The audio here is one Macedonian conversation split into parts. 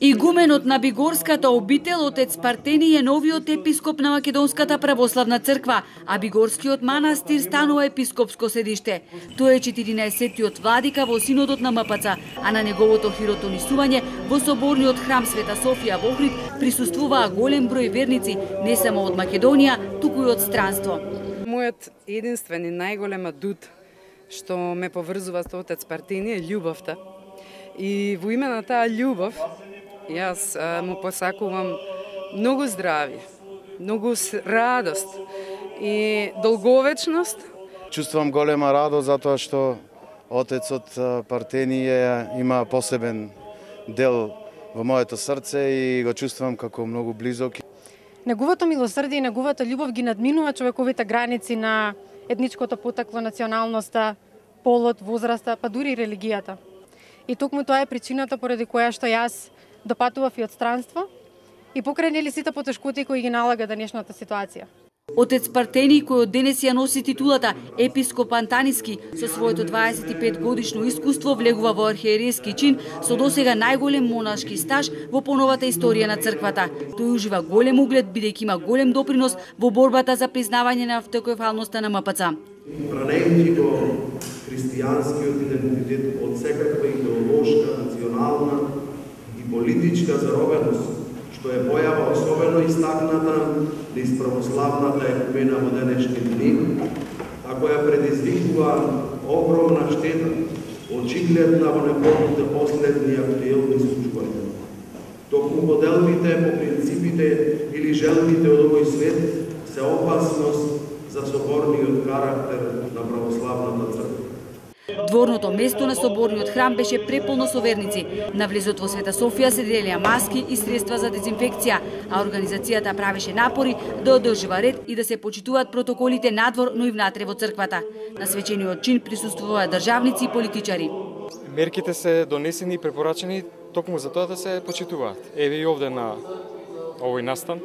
Игуменот на Бигорската обител, отец Партени, е новиот епископ на Македонската православна црква, а Бигорскиот манастир станува епископско седиште. Тој е 14-тиот владика во синодот на МПЦ, а на неговото хиротонисување во соборниот храм Света Софија во Охрид присуствуваа голем број верници, не само од Македонија, туку и од странство. Мојот единствен и најголем адут што ме поврзува со отец Партени е љубовта. И во име на таа љубов јас му посакувам многу здравје, многу радост и долговечност. Чувствувам голема радост затоа што отецот Партени има посебен дел во моето срце и го чувствувам како многу близок. Неговото милосрдие и неговата љубов ги надминува човековите граници на етничкото потекло, националноста, полот, возраста, па дури и религијата. И токму тоа е причината поради која што јас допатував и од странство и покрај нели сите потешкоти кои ги налага денешната ситуација. Отец Партени, кој од денес ја носи титулата епископ Антаниски, со своето 25 годишно искуство влегува во архиерејски чин со досега најголем монашки стаж во поновата историја на црквата. Тој ужива голем углед бидејќи има голем допринос во борбата за признавање на автокефалноста на МПЦ. Бранејќи го христијанскиот идентитет од секаква идеолошка, национална и политичка заробеност, што е појава особено истакната низ православната екумена во денешни дни, а која предизвикува огромна штета, очигледна во неговите последни актуелни случаи. Токму поделбите по принципите или желбите од овој свет се опасност за соборниот карактер на православната црква. Дворното место на соборниот храм беше преполно со верници. На влезот во Света Софија се делеа маски и средства за дезинфекција, а организацијата правеше напори да одржува ред и да се почитуваат протоколите надвор, но и внатре во црквата. На свечениот чин присуствуваа државници и политичари. Мерките се донесени и препорачени токму за тоа да се почитуваат. Еве и овде на овој настан,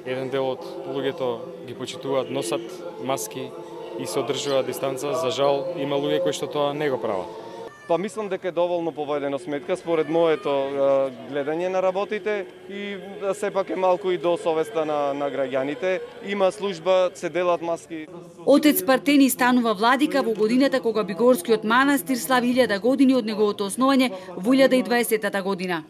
еден дел од луѓето ги почитуваат, носат маски и се одржува дистанца. За жал, има луѓе кои што тоа не го прават. Па мислам дека е доволно поведено сметка според моето гледање на работите и сепак е малку и до совеста на граѓаните. Има служба, се делат маски. Отец Партени станува владика во годината кога Бигорскиот манастир слави 1000 години од неговото основање во 1020 година.